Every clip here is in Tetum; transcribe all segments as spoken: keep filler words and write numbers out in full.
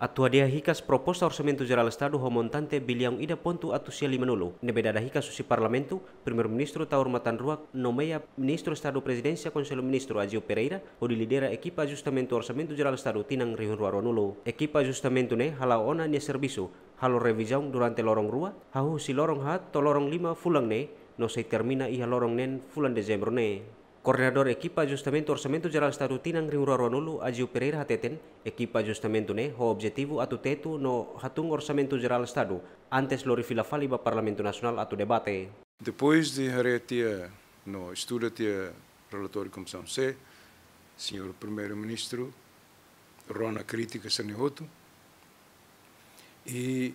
Atu hadi'a hikas proposta Orsamentu Jerál Estadu ho montante biliaun ida pontu atus sia lima-nulu ne'ebé dada hikas husi Parlamentu, Primeiru-Ministru Taur Matan Ruak nomeia Ministru Estadu Prezidénsia Konsellu Ministru Aziu Pereira hodi lidera ekipa ajustamentu Orsamentu Jerál Estadu tinan rihun rua rua-nulu. Ekipa ajustamentu ne'e hala'o ona nia servisu, halo revizaun durante loron rua, hahú husi loron haat to'o loron lima fulan ne'e, no sei termina iha loron neen fulan Dezembru ne'e. Koordenadór ekipa ajustamentu Orsamentu Jerál Estadu tinan rihun rua rua-nulu, Aziu Pereira, hateten, ekipa ajustamentu ne'e ho objetivu atu tetu no hatún Orsamentu Jerál Estadu antes lori fila fali ba Parlamentu Nasionál atu debate. Depois de haree tiha no estuda tiha relatóriu Komisaun C, señór Primeiru-Ministru rona krítika sira-ne'e hotu, i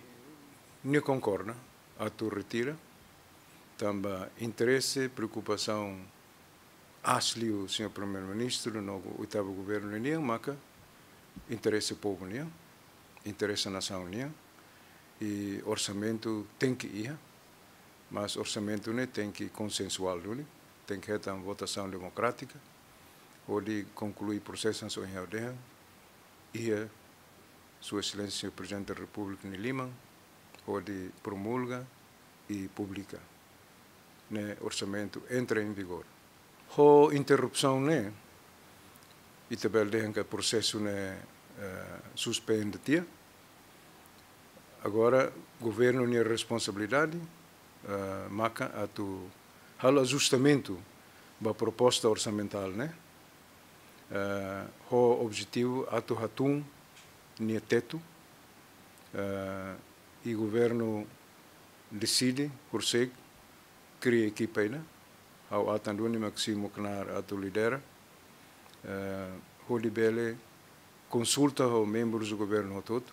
nia konkorda atu retira, tanba interese, preokupasaun aas liu señór Primeiru-Ministru no oitavu governu ninian maka interese povu nian, interese nasaun nian, i orsamentu tenke iha, mas orsamentu ne'e tenke konsensuál duni, tenke hetan votasaun demokrátika, hodi konklui prosesu hanesan ohin ha'u dehan iha Sua Exelénsia Prezidente da Repúblika nia liman, hodi promulga i publika, ne'e orsamentu entra em vigor. Ho interrupsaun ne'e, ita bele dehan katak prosesu ne'e, eh, suspende tiha. Agora, governu nia responsabilidade, eh, maka atu halo ajustamentu ba proposta orsamentál ne'e, eh, ho objetivu atu hatún nia tetu, eh, i governu deside, konsege kria ekipa ida, ha'u atan duni mak simu knaar atu lidera, eh, hodi bele konsulta ho membrus governu hotu-hotu,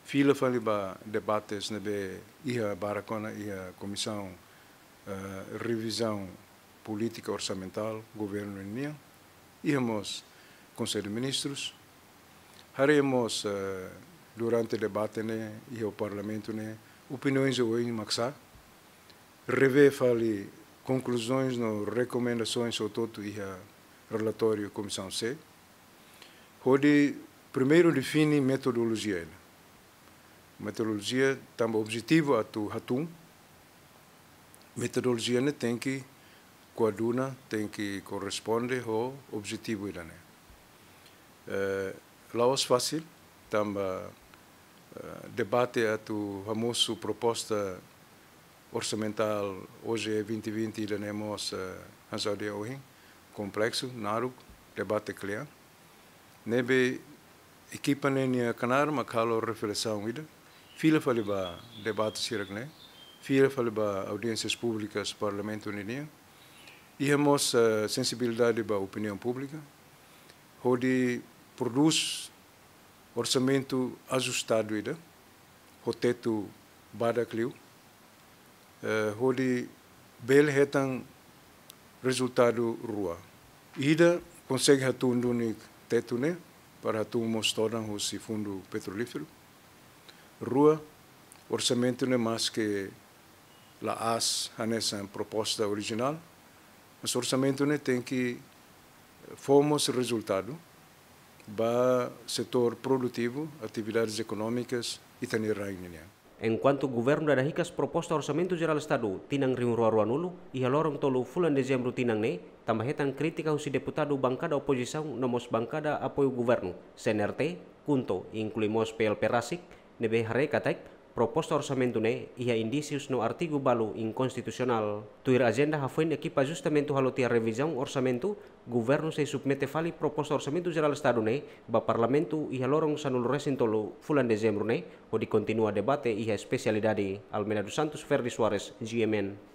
fila fali ba debates ne'ebé iha barak ona iha Komisaun, eh, Revizaun Polítika Orsamentál governu nian, iha mós Konsellu Ministrus. Haree mós, eh, durante debate ne'e iha Parlamentu ne'e, opiniaun oioin mak sa'e, revee fali konkluzaun no rekomendasaun hotu-hotu iha relatóriu Komisaun C, hodi primeiru define metodolojia ida. Metodolojia tanba objetivu atu hatún, metodolojia ne'e tenke koaduna, tenke korresponde ho objetivu ida-ne'e. Eh, la'ós fasil, tanba, eh, debate atu hamosu proposta orsamentál O J E vinte vinte ida-ne'e mós, eh, hanesan ohin, kompleksu, naruk, debate kle'an. Ne'ebé ekipa ne'e nia knaar mak halo reflesaun ida, fila fali ba debate sira-ne'e, fila fali ba audiénsias públikas Parlamentu ninian, iha mós, eh, sensibilidade ba opiniaun públika, hodi prodús orsamentu ajustadu ida, ho tetu badak liu, eh, hodi bele hetan rezultadu rua. Ida, konsege hatún duni tetu ne'e, para hatún mós todan husi Fundu Petrolíferu. Rua, orsamentu ne'e maske la'ós hanesan proposta orijinál, mas orsamentu ne'e tenke fó mós rezultadu ba setór produtivu, atividades ekonómikas, ita-nia rain nian. Enkuantu governu dada hikas proposta Orsamentu Jerál Estadu tinan rihun rua rua-nulu, iha loron tolu fulan Dezembru tinan ne'e, tanba hetan krítika husi deputadu bankada opozisaun no mós bankada apoiu governu, C N R T, KHUNTO, inklui mós P L P rasik, ne'ebé haree katak proposta orsamentu ne'e iha indísius no artigu balu inkonstitusionál. Tuir ajenda hafoin ekipa ajustamentu halo tiha revizaun orsamentu, governu sei submete fali proposta Orsamentu Jerál Estadu ne'e ba Parlamentu iha loron sanulu-resin-tolu fulan Dezembru ne'e, hodi kontinua debate iha espesialidade. Almeida dos Santos, Ferdi Soares, G M N.